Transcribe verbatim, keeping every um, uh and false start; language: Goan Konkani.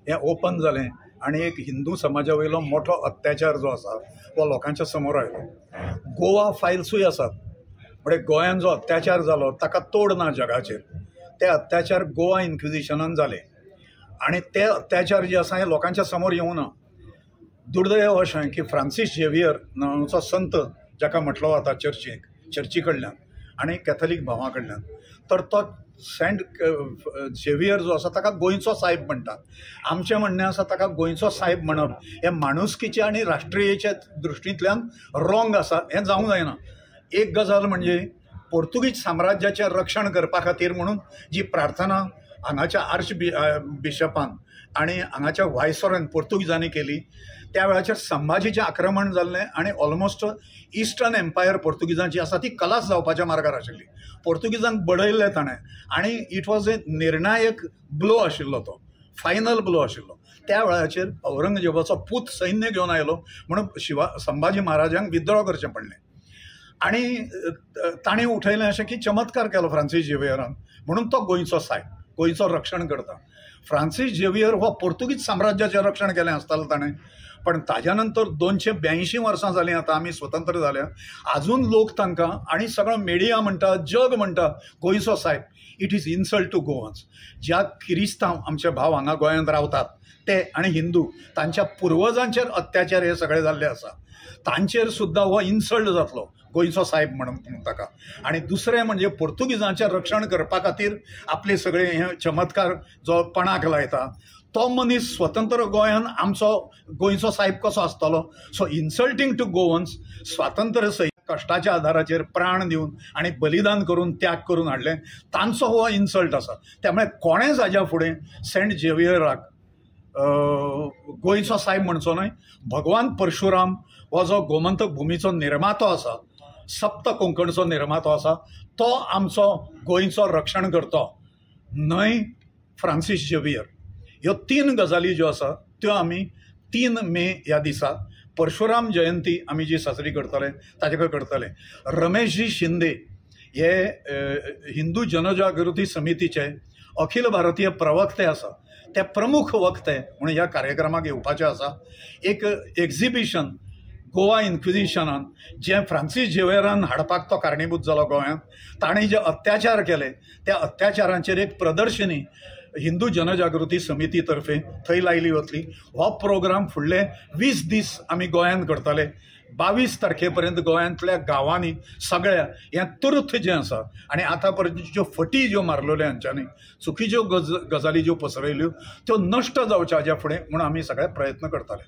हें ओपन जालें आनी एक हिंदू समाजा वयलो मोठो अत्याचार जो आसा हो लोकांच्या समोर आयलो. गोवा फायल्सूय आसात, म्हणजे गोंयान जो अत्याचार जालो ताका तोड ना जगाचेर. ते अत्याचार गोवा इन्क्विजिशनान जाले आनी ते अत्याचार जे आसा हे लोकांच्या समोर येवना. दुर्दैव अशें की फ्रांसीस झेवियर नांवाचो संत जाका म्हटलो वता चर्चीक चर्ची कडल्यान आनी कॅथलीक भावां कडल्यान, तर तो सेंट झेवियर जो आसा ताका गोंयचो सायब म्हणटात. आमचें म्हणणें आसा ताका गोंयचो सायब म्हणप हें माणुसकीच्या आनी राष्ट्रीयेच्या दृश्टींतल्यान रॉंग आसा, हें जावंक जायना. एक गजाल म्हणजे पोर्तुगीज साम्राज्याचें रक्षण करपा खातीर म्हणून जी प्रार्थना हांगाच्या आर्च बिशपान आनी हांगाच्या वायसरॉयन पोर्तुगीजांनी केली त्या वेळाचेर संभाजीचें आक्रमण जाल्लें आनी ऑलमोस्ट इस्टर्न एम्पायर पोर्तुगीजांची आसा ती कलास जावपाच्या मार्गार आशिल्ली. पोर्तुगीजांक बडयल्लें ताणें आनी it was a निर्णायक ब्लो आशिल्लो, तो फायनल ब्लो आशिल्लो. त्या वेळाचेर औरंगजेबाचो पूत सैन्य घेवन आयलो म्हणून शिवा संभाजी महाराजांक विद्रोह करचें पडलें आनी ताणें उठयलें अशें की चमत्कार केलो फ्रांसीस झेवियरान, म्हणून तो गोंयचो सायब, गोंयचो रक्षण करता. फ्रांसीस झेवियर हो पोर्तुगीज साम्राज्याचें रक्षण केलें आसतालें ताणें, पण ताज्या नंतर दोनशे ब्याऐंशी वर्सां जालीं आतां आमी स्वतंत्र जाल्या, आजून लोक तांकां आनी सगळो मिडिया म्हणटा, जग म्हणटा गोंयचो सायब. It is insult to Goans. ज्या किरिस्तांव आमचे भाव हांगा गोंयांत रावतात ते आनी हिंदू तांच्या पुर्वजांचेर अत्याचार हे सगळे जाल्ले आसा, तांचेर सुद्दां हो इन्सल्ट जातलो गोंयचो सायब म्हणून ताका. आनी दुसरें म्हणजे पोर्तुगीजांचें रक्षण करपा खातीर आपले सगळे हे चमत्कार जो पणाक लायता तो मनीस स्वतंत्र गोंयान आमचो गोंयचो सायब कसो आसतलो. So insulting to Goans. स्वातंत्र्य सैनिक कश्टाच्या आधाराचेर प्राण दिवन आनी बलिदान करून त्याग करून हाडलें तांचो हो इन्सल्ट आसा. त्यामुळे कोणेंच हाज्या फुडें सेंट झेवियराक गोंयचो सायब म्हणचो न्हय. भगवान परशुराम हो जो गोमंतक भुमीचो निर्मातो आसा, सप्त कोंकणचो निर्मातो आसा, तो आमचो गोंयचो रक्षण करतो न्हय फ्रांसीस झेवियर. ह्यो तीन गजाली ज्यो आसा त्यो आमी तीन मे ह्या दिसा परशुराम जयंती आमी जी साजरी करतले ताजे कडेन करतले. रमेशजी शिंदे हे हिंदू जनजागृती समितीचे अखिल भारतीय प्रवक्ते आसा, ते प्रमुख वक्ते म्हणून ह्या कार्यक्रमाक येवपाचे आसा. एक एक्झिबिशन गोवा इन्क्विजिशनान जें फ्रांसीस झेवियरान हाडपाक तो कारणीभूत जालो गोंयांत, ताणें जे अत्याचार केले त्या अत्याचारांचेर एक प्रदर्शनी हिंदू जनजागृती समिती तर्फे थंय लायली वतली. हो प्रोग्राम फुडले वीस दीस आमी गोंयांत करतले. बावीस तारखे पर्यंत गोंयांतल्या गांवांनी सगळ्या हें तुर्त जें आसा आनी आतां पर्यंत ज्यो फटी ज्यो मारलेल्यो हांच्यांनी चुकीच्यो गज गजाली ज्यो पसरयल्यो त्यो नश्ट जावच्यो हाज्या फुडें म्हणून आमी सगळे प्रयत्न करतले.